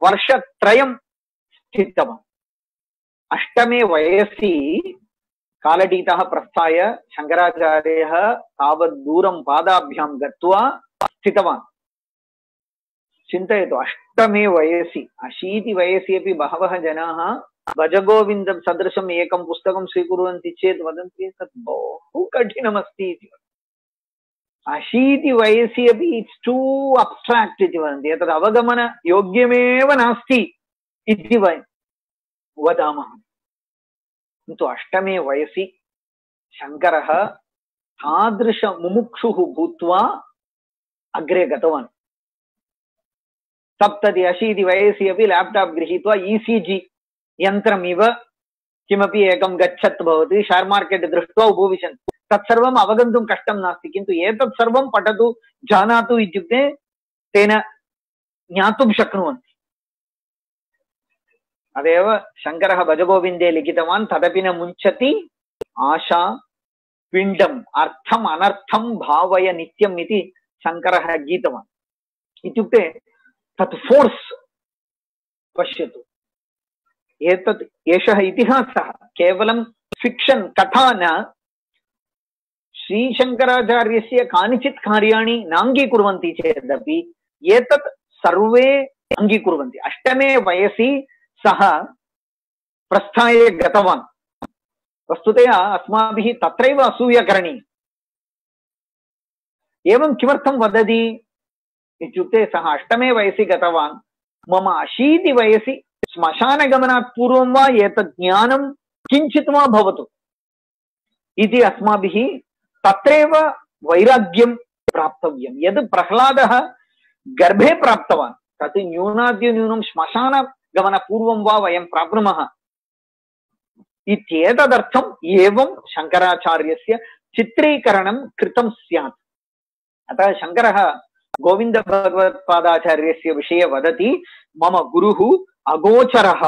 वर्षत्रयं स्थितवान्। अष्टमे वयसि कालडीतः प्रस्थाय शङ्कराचार्यः तावत् दूरं पादाभ्यां गत्वा स्थितवान्। चिन्तयतु, अष्टमे वयसि, अशीति वयसि अपि बहवः जनाः भजगोविन्दं सदृशम् एकं पुस्तकं स्वीकुर्वन्ति चेत् वदन्ति तत् बहु कठिनमस्ति इति। अशीति वयसि अपि इट्स् टू अब्स्ट्राक्ट् इति वदन्ति, एतद् अवगमनयोग्यमेव नास्ति इति वयं वदामः। किन्तु अष्टमे वयसि शङ्करः तादृशमुमुक्षुः भूत्वा अग्रे गतवान्। सप्तति अशीति वयसि अपि लैपटॉप गृहीत्वा ईसीजी यन्त्रमिव किमपि एकं गच्छत् भवति, शेर् मार्केट् दृष्ट्वा उपविशन्ति। तत्सर्वम् अवगन्तुं कष्टं नास्ति, किन्तु एतत् सर्वं पठतु, जानातु इत्युक्ते तेन ज्ञातुं शक्नुवन्ति। अदेव शङ्करः भजगोविन्दे लिखितवान्, तदपि न मुञ्चति आशा पिण्डम् अर्थम् अनर्थं भावय नित्यम् इति शङ्करः गीतवान्। इत्युक्ते तत् फोर्स् पश्यतु, एतत् एषः इतिहासः केवलं फिक्षन् कथा न। श्रीशङ्कराचार्यस्य कानिचित् कार्याणि नाङ्गीकुर्वन्ति चेदपि एतत् सर्वे अङ्गीकुर्वन्ति। अष्टमे वयसि सः प्रस्थाय गतवान्। वस्तुतः अस्माभिः तत्रैव असूया करणीया। एवं किमर्थं वदति इत्युक्ते सः अष्टमे वयसि गतवान्, मम अशीति वयसि श्मशानगमनात् पूर्वं वा एतत् ज्ञानं किञ्चित् वा भवतु इति अस्माभिः तत्रैव वैराग्यं प्राप्तव्यं। यद् प्रह्लादः गर्भे प्राप्तवान् तत् न्यूनातिन्यूनं श्मशानगमनपूर्वं वा वयं प्राप्नुमः इत्येतदर्थम् एवं शङ्कराचार्यस्य चित्रीकरणं कृतं स्यात्। अतः शङ्करः गोविन्द भगवत्पादाचार्यस्य विषये वदति, मम गुरुः अगोचरः,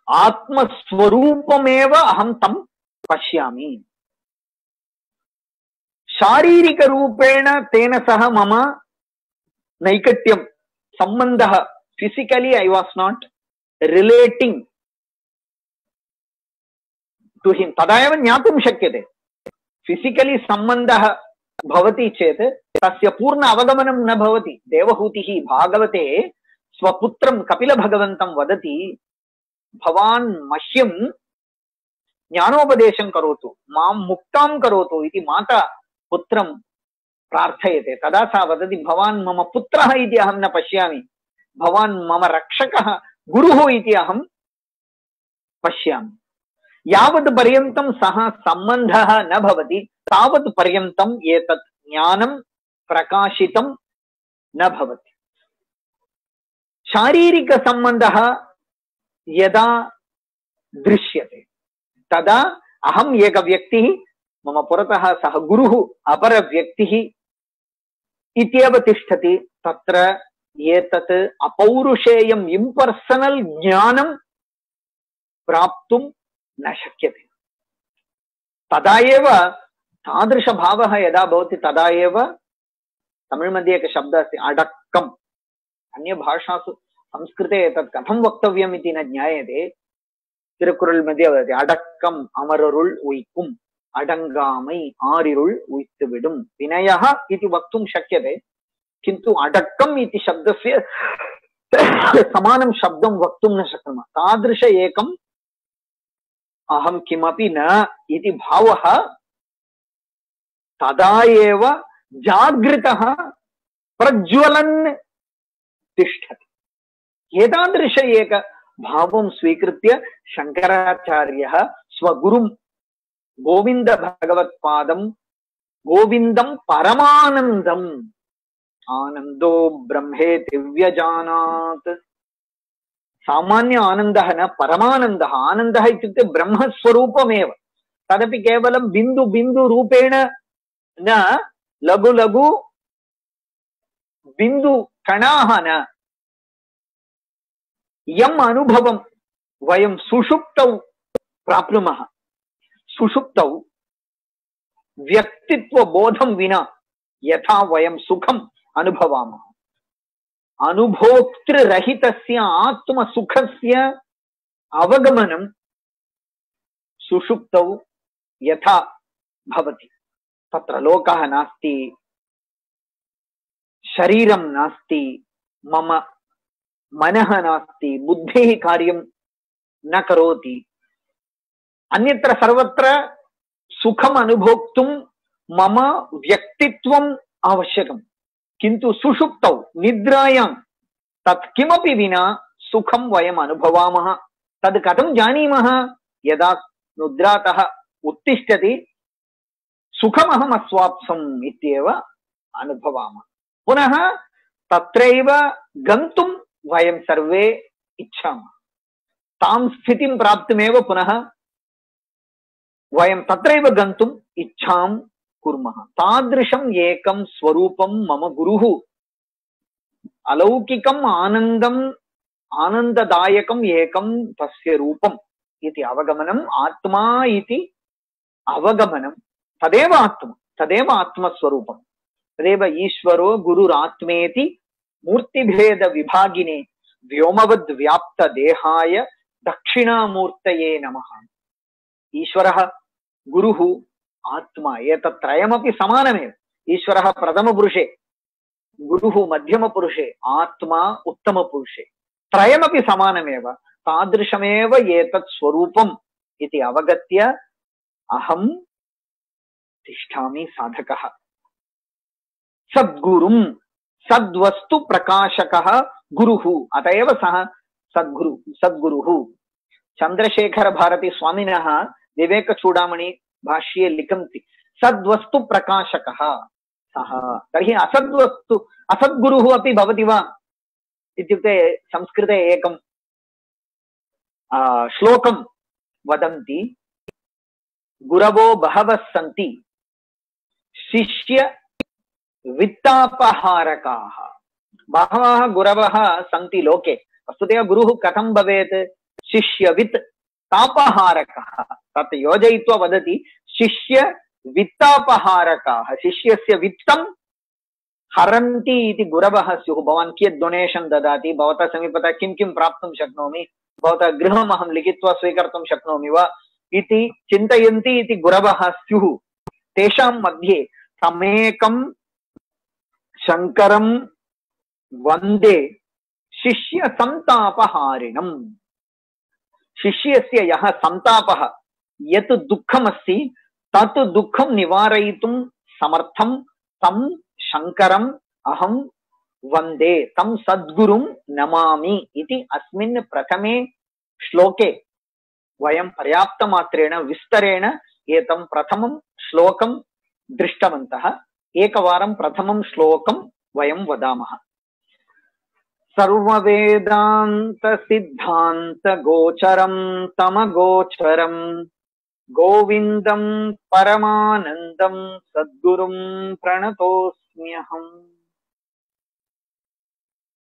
आत्मस्वरूपमेव अहं तं पश्यामि। शारीरिकरूपेण तेन सह मम नैकट्यं सम्बन्धः, physically I was not relating to him, तदा एव ज्ञातुं शक्यते। फिजिकली सम्बन्धः भवति चेत् तस्य पूर्ण अवगमनं न भवति। देवहूतिः भागवते स्वपुत्रं कपिलभगवन्तं वदति, भवान् मह्यं ज्ञानोपदेशं करोतु, मां मुक्तां करोतु इति माता पुत्रं प्रार्थयते। तदा सा वदति, भवान् मम पुत्रः इति अहं न पश्यामि, भवान् मम रक्षकः गुरुः इति अहं पश्यामि। यावत् पर्यन्तं सः सम्बन्धः न भवति तावत् पर्यन्तम् एतत् ज्ञानं प्रकाशितं न भवति। शारीरिकसम्बन्धः यदा दृश्यते तदा अहम् एकव्यक्तिः, मम पुरतः सः गुरुः अपरव्यक्तिः इत्येव तिष्ठति। तत्र एतत् अपौरुषेयम् इम्पर्सनल् ज्ञानं प्राप्तुं न शक्यते। तदा एव तादृशभावः यदा भवति तदा एव, तमिळ् मध्ये एकः शब्दः अस्ति अडक्कम्, अन्यभाषासु संस्कृते एतत् कथं वक्तव्यम् इति न ज्ञायते। तिरुकुरल् मध्ये वदति अडक्कम् अमररुल् उय्कुम् अडङ्गामै आरिरुल् उय्तुविडुम् विनयः इति वक्तुं शक्यते किन्तु अडक्कम् इति शब्दस्य समानं शब्दं वक्तुं न शक्नुमः तादृश एकम् अहं किमपि न इति भावः तदा एव जागृतः प्रज्वलन् तिष्ठति एतादृश एक भावं स्वीकृत्य शंकराचार्यः स्वगुरुं गोविंद भगवत्पादं गोविंदं परमानन्दम् आनंदो ब्रह्मेति व्यजानात् सामान्य आनंदः न परमानन्दः आनन्दः इत्युक्ते ब्रह्मस्वरूपमेव तदपि केवलं बिन्दु बिन्दु रूपेण न लघु लघु बिन्दु कणाः न यम् अनुभवं वयं सुषुप्तौ प्राप्नुमः सुषुप्तौ व्यक्तित्व बोधं विना यथा वयं सुखम् अनुभवामः अनुभोक्तृरहितस्य आत्मसुखस्य अवगमनं सुषुप्तौ यथा भवति तत्र लोकः नास्ति शरीरं नास्ति मम मनः नास्ति बुद्धिः कार्यं न करोति अन्यत्र सर्वत्र सुखम् अनुभोक्तुं मम व्यक्तित्वम् आवश्यकम् किन्तु सुषुप्तौ निद्रायां तत् किमपि विना सुखं वयम् अनुभवामः तद् कथं जानीमः यदा निद्रातः उत्तिष्ठति सुखमहम् अस्वाप्सम् इत्येव अनुभवामः पुनः तत्रैव गन्तुं वयं सर्वे इच्छामः तां स्थितिं प्राप्तुमेव पुनः वयं तत्रैव गन्तुम् इच्छां कुर्मः तादृशम् एकं स्वरूपं मम गुरुः अलौकिकम् आनन्दम् आनन्ददायकम् एकं तस्य रूपम् इति अवगमनम् आत्मा इति अवगमनं तदेव आत्मा तदेव आत्मस्वरूपं तदेव ईश्वरो गुरुरात्मेति मूर्तिभेद विभागिने व्योमवद् व्याप्त देहाय दक्षिणामूर्तये नमः ईश्वरः गुरुः आत्मा एतत्त्रयमपि समानमेव ईश्वरः प्रथमपुरुषे गुरुः मध्यमपुरुषे आत्मा उत्तमपुरुषे त्रयमपि समानमेव तादृशमेव एतत् स्वरूपम् इति अवगत्य अहं तिष्ठामि साधकः सद्गुरुं सद्वस्तु प्रकाशकः गुरुः अतएव सः सद्गुरु सद्गुरुः चंद्रशेखर भारती स्वामिनः विवेक चूडामणि भाष्ये लिखन्ति सद्वस्तु प्रकाशकः सः तर्हि असद्वस्तु असद्गुरुः अपि भवति वा इत्युक्ते संस्कृते एकं श्लोकं वदन्ति गुरवो बहवः सन्ति शिष्य वित्तापहारकाः बहवः गुरवः सन्ति लोके वस्तुतः गुरुः कथं भवेत् शिष्यवित् तापहारकः तत् योजयित्वा वदति शिष्य वित्तापहारकाः शिष्यस्य वित्तं हरन्ति इति गुरवः स्युः भवान् कियत् डोनेशन् ददाति भवतः समीपतः किं किं प्राप्तुं शक्नोमि भवतः गृहम् अहं लिखित्वा स्वीकर्तुं शक्नोमि वा इति चिन्तयन्ति इति गुरवः स्युः तेषां मध्ये तमेकं शङ्करं वन्दे शिष्य संतापहारिणम् शिष्यस्य यः संतापः यत् दुःखमस्ति तत् दुःखं निवारयितुं समर्थं तं शङ्करम् अहं वन्दे तं सद्गुरुं नमामि इति अस्मिन् प्रथमे श्लोके वयं पर्याप्तमात्रेण विस्तरेण एतं प्रथमं श्लोकं दृष्टवन्तः एकवारं प्रथमं श्लोकं वयं वदामः सर्ववेदान्त सिद्धान्त गोचरं तमगोचरं गोविन्दं परमानन्दं सद्गुरुं प्रणतोऽस्म्यहम्